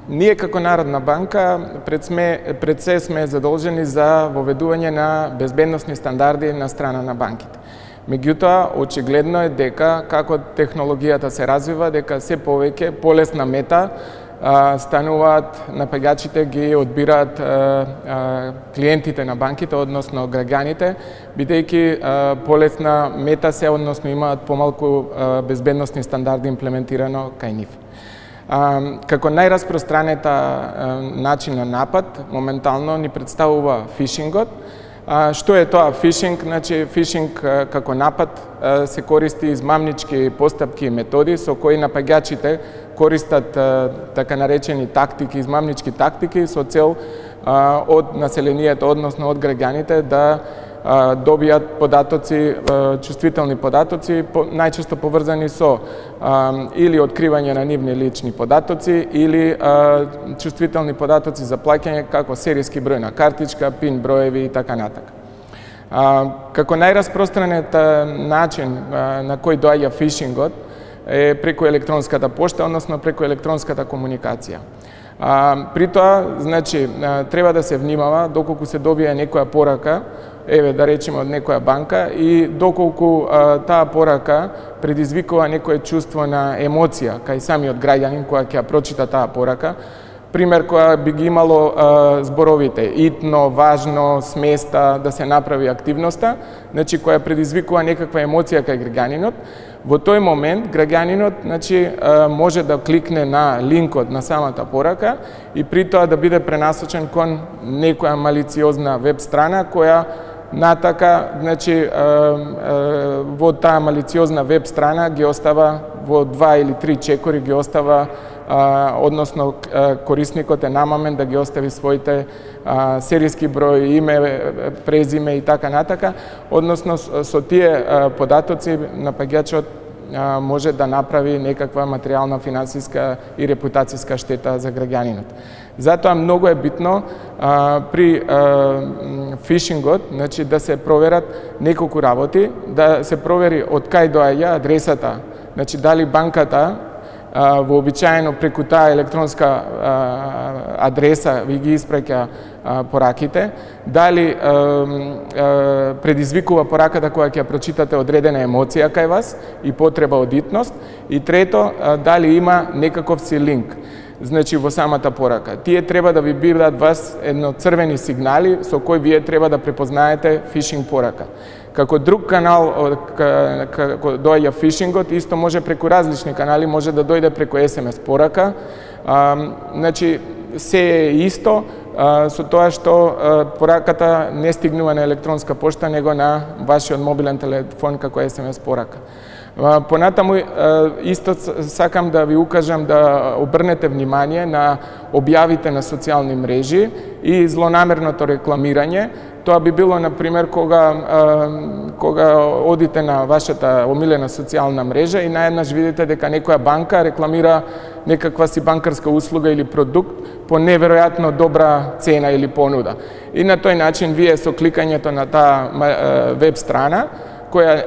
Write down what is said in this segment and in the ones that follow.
Ние како Народна банка пред се сме задолжени за воведување на безбедносни стандарди на страна на банките. Меѓутоа, очигледно е дека како технологијата се развива, дека се повеќе полесна мета стануваат напаѓачите, ги одбираат клиентите на банките, односно граѓаните, бидејќи полесна мета се, односно имаат помалку безбедносни стандарди имплементирано кај нив. Како најраспространета начин на напад, моментално ни представува фишингот. Што е тоа фишинг? Значи, фишинг како напад се користи измамнички постапки и методи со кои напаѓачите користат така наречени тактики, измамнички тактики со цел од населението, односно од граѓаните да добијат податоци, чувствителни податоци, најчесто поврзани со или откривање на нивни лични податоци или чувствителни податоци за плаќање како серијски број на картичка, пин броеви и така натака. Како најраспространет начин на кој доаѓа фишингот е преку електронската пошта, односно преку електронската комуникација. При тоа, значи, треба да се внимава доколку се добие некоја порака, еве да речеме од некоја банка, и доколку таа порака предизвикува некое чувство на емоција кај самиот граѓанин која ќе ја прочита таа порака. Пример која би ги имало зборовите итно, важно, сместа да се направи активноста, значи која предизвикува некаква емоција кај граѓанинот. Во тој момент граѓанинот, значи, може да кликне на линкот на самата порака и при тоа да биде пренасочен кон некоја малициозна веб страна која натака, значи, во таа малициозна веб страна ги остава во 2 или 3 чекори ги остава, односно корисникот е намамен да ги остави своите серијски број, име, презиме и така натака, односно со тие податоци напаѓачот може да направи некаква материјална, финансиска и репутацијска штета за граѓанинот. Затоа многу е битно при фишингот, значи да се проверат неколку работи, да се провери од кај доаѓа адресата, значи дали банката вообичаено преку таа електронска адреса ви ги испраќа пораките, дали предизвикува пораката која ќе ја прочитате одредена емоција кај вас и потреба од итност, и трето, дали има некаков си линк. Значи, во самата порака. Тие треба да ви бидат вас едно црвени сигнали со кои вие треба да препознаете фишинг порака. Како друг канал како доаѓа фишингот, исто може преку различни канали, може да дојде преку SMS порака. Значи, се е исто со тоа што пораката не стигнува на електронска пошта, него на вашиот мобилен телефон како SMS порака. Понатаму, исто сакам да ви укажам да обрнете внимание на објавите на социјални мрежи и злонамерното рекламирање. Тоа би било, например, кога одите на вашата омилена социјална мрежа и наеднаш видите дека некоја банка рекламира некаква си банкарска услуга или продукт по неверојатно добра цена или понуда. И на тој начин вие со кликањето на таа веб страна, која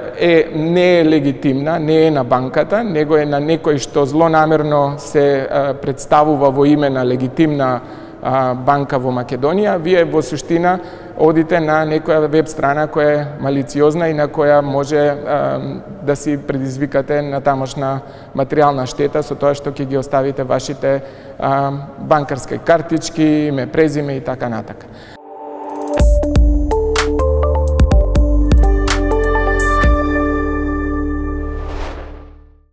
не е легитимна, не е на банката, него е на некој што злонамерно се представува во име на легитимна банка во Македонија, вие во суштина одите на некоја веб страна која е малициозна и на која може да си предизвикате натамошна материјална штета со тоа што ќе ги оставите вашите банкарски картички, име, презиме и така натака.